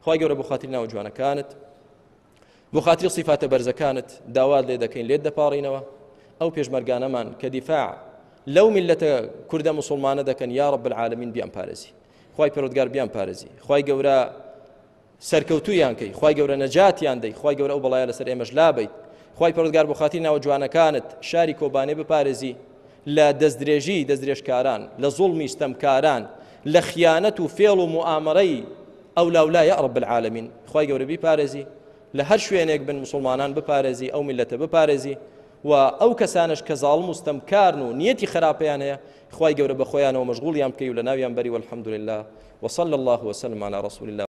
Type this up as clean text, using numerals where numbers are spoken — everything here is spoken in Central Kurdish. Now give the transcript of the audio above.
خوای گەورە بۆ خاتری ناوە جوانەکانت بۆ خاتری سیفاتە بەرزەکانت داوات لێ دەکەین لێت دەپاڕینەوە ئەو پێشمەرگانەمان کە دیفاع لەو میلەتە کوردە مسلمانە دەکەن یا رب العالمین بیان پارێزی خوای پەروەردگار بیان پارێزی خوای گەورە سەرکەوتویان کەی خوای گەورە نەجاتیان دەی خوای گەورە ئەو بەڵایە لەسەر ئێمەش لابەیت خوای پەروەردگار بۆ خاتری ناوە جوانەکانت شاری کۆبانێ بپارێزی لە دەستدرێژی دەستدرێژکاران لە زوڵمی ستەمکاران لە خیانەت و فێڵ و موئامەرەی ئەولاولا یا رب العالمین خوای گەورە بیپارێزی لە هەر شوێنێک بن مسلمانان بپارێزی ئەو میلەتە بپارێزی و ئەو کەسانش کە زاڵم و ستەمکارن و نیەتی خراپیان هەیە خوای گەورە بە خۆیانەوە مەشغوڵیان بکەی و لە ناویان بەری والحمد لله وصلى الله وسلم على رسول الله.